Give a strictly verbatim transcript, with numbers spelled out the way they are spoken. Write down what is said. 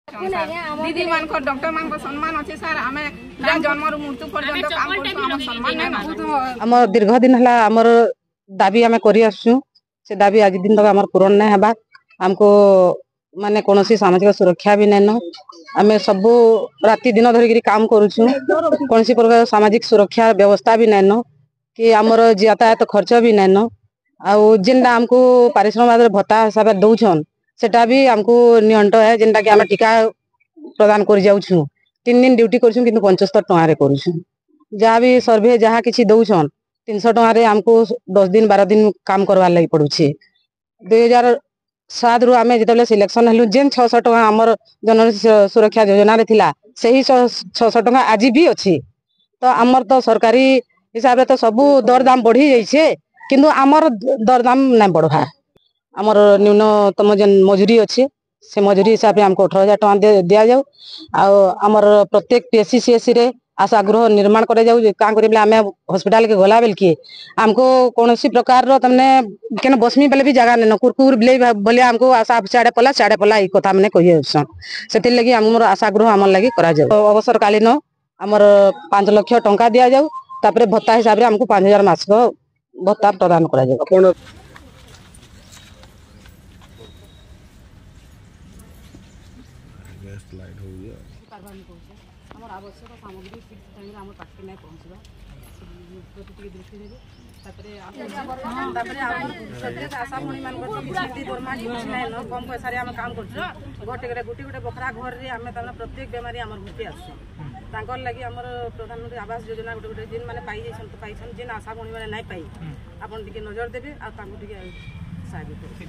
ଦିଦି ମାନଙ୍କର ଡକ୍ଟର ମାନଙ୍କର ସମ୍ମାନ ଅଛି ସାର୍। ଆମେ ଜନ୍ମରୁ ମୃତ୍ୟୁ ପର୍ଯ୍ୟନ୍ତ କାମ କରୁଛୁ, ଆମ ସମ୍ମାନ ନାଇଁ। ଆମର ଦୀର୍ଘ ଦିନ ହେଲା ଆମର ଦାବି ଆମେ କରି ଆସୁଛୁ, ସେ ଦାବି ଆଜି ଦିନ ତକ ଆମର ପୂରଣ ନାଇଁ ହେବା। ଆମକୁ ମାନେ କୌଣସି ସାମାଜିକ ସୁରକ୍ଷା ବି ନାଇଁନ। ଆମେ ସବୁ ରାତି ଦିନ ଧରିକିରି କାମ କରୁଛୁ, କୌଣସି ପ୍ରକାର ସାମାଜିକ ସୁରକ୍ଷା ବ୍ୟବସ୍ଥା ବି ନାଇଁନ କି ଆମର ଯାତାୟାତ ଖର୍ଚ୍ଚ ବି ନାଇଁନ। ଆଉ ଯେନ୍ଟା ଆମକୁ ପାରିଶ୍ରମିକ ଭତ୍ତା ହିସାବରେ ଦଉଛନ୍, ସେଟା ବି ଆମକୁ ନିଅଣ୍ଟ ହେ। ଯେନ୍ଟା କି ଆମେ ଟୀକା ପ୍ରଦାନ କରି ଯାଉଛୁ, ତିନି ଦିନ ଡ୍ୟୁଟି କରୁଛୁ, କିନ୍ତୁ ପଞ୍ଚସ୍ତର ଟଙ୍କାରେ କରୁଛୁ। ଯାହା ବି ସର୍ଭେ ଯାହା କିଛି ଦଉଛନ୍, ତିନିଶହ ଟଙ୍କାରେ ଆମକୁ ଦଶ ଦିନ ବାର ଦିନ କାମ କରବାର୍ ଲାଗି ପଡୁଛି। ଦୁଇ ହଜାର ସାତରୁ ଆମେ ଯେତେବେଳେ ସିଲେକ୍ସନ ହେଲୁ, ଯେନ୍ ଛଅଶହ ଟଙ୍କା ଆମର ଜନ ସୁରକ୍ଷା ଯୋଜନାରେ ଥିଲା, ସେହି ଛଅଶହ ଟଙ୍କା ଆଜି ବି ଅଛି। ତ ଆମର ତ ସରକାରୀ ହିସାବରେ ତ ସବୁ ଦରଦାମ ବଢି ଯାଇଛେ, କିନ୍ତୁ ଆମର ଦରଦାମ ନାଇଁ ବଢବା। ଆମର ନ୍ୟୁନତମ ଯେନ୍ ମଜୁରୀ ଅଛି, ସେ ମଜୁରୀ ହିସାବରେ ଆମକୁ ଅଠର ହଜାର ଟଙ୍କା ଦିଆଯାଉ। ଆଉ ଆମର ପ୍ରତ୍ୟେକ ପିଏଚସି ସିଏଚସି ରେ ଆଶା ଗୃହ ନିର୍ମାଣ କରାଯାଉ। କାଁ କରି ବେଲେ ଆମେ ହସ୍ପିଟାଲ କେ ଗଲା ବେଲକି ଆମକୁ କୌଣସି ପ୍ରକାରର ତମନେ କେନ ବସମି ବେଲେ ବି ଜାଗା ନାଇନ, କୁରକୁର ବିଲେଇ ଭଳିଆ ଆମକୁ ଆଶା ସିଆଡେ ପଲା ସିଆଡେ ପଲା ଏଇ କଥା ମାନେ କହି ଆସୁଛନ୍। ସେଥିର୍ଲାଗି ଆମର ଆଶା ଗୃହ ଆମର ଲାଗି କରାଯାଉ। ଅବସରକାଳୀନ ଆମର ପାଞ୍ଚ ଲକ୍ଷ ଟଙ୍କା ଦିଆଯାଉ, ତାପରେ ଭତ୍ତା ହିସାବରେ ଆମକୁ ପାଞ୍ଚ ହଜାର ମାସିକ ଭତ୍ତା ପ୍ରଦାନ କରାଯାଉ। ଆପଣ ଆମର ଆବଶ୍ୟକ ସାମଗ୍ରୀ ଠିକ୍ ଟାଇମ୍ରେ ଆମ ପାଖରେ ନାଇଁ ପହଞ୍ଚିବା ପ୍ରତି ଟିକେ ଦୃଷ୍ଟି ଦେବେ। ତାପରେ ତାପରେ ଆମର ପ୍ରତ୍ୟେକ ଆଶା ଭଉଣୀ ମାନଙ୍କର ତ କିଛି ଦି ଦରମା କିଛି ନାଇଁ ନ, କମ ପଇସାରେ ଆମେ କାମ କରୁଛୁ। ଗୋଟେ ଗୋଟେ ଗୋଟେ ଗୋଟେ ବଖରା ଘରରେ ଆମେ ତାମାନେ ପ୍ରତ୍ୟେକ ବେମାରୀ ଆମର ଘରକେ ଆସୁଛନ୍। ତାଙ୍କର ଲାଗି ଆମର ପ୍ରଧାନମନ୍ତ୍ରୀ ଆବାସ ଯୋଜନା ଗୋଟେ ଗୋଟେ ଯେନ୍ ମାନେ ପାଇଯାଇଛନ୍ ତ ପାଇଛନ୍, ଯେନ୍ ଆଶା ଭଉଣୀ ମାନେ ନାଇଁ ପାଇ, ଆପଣ ଟିକେ ନଜର ଦେବେ ଆଉ ତାଙ୍କୁ ଟିକେ ସାହାଯ୍ୟ କରିବେ।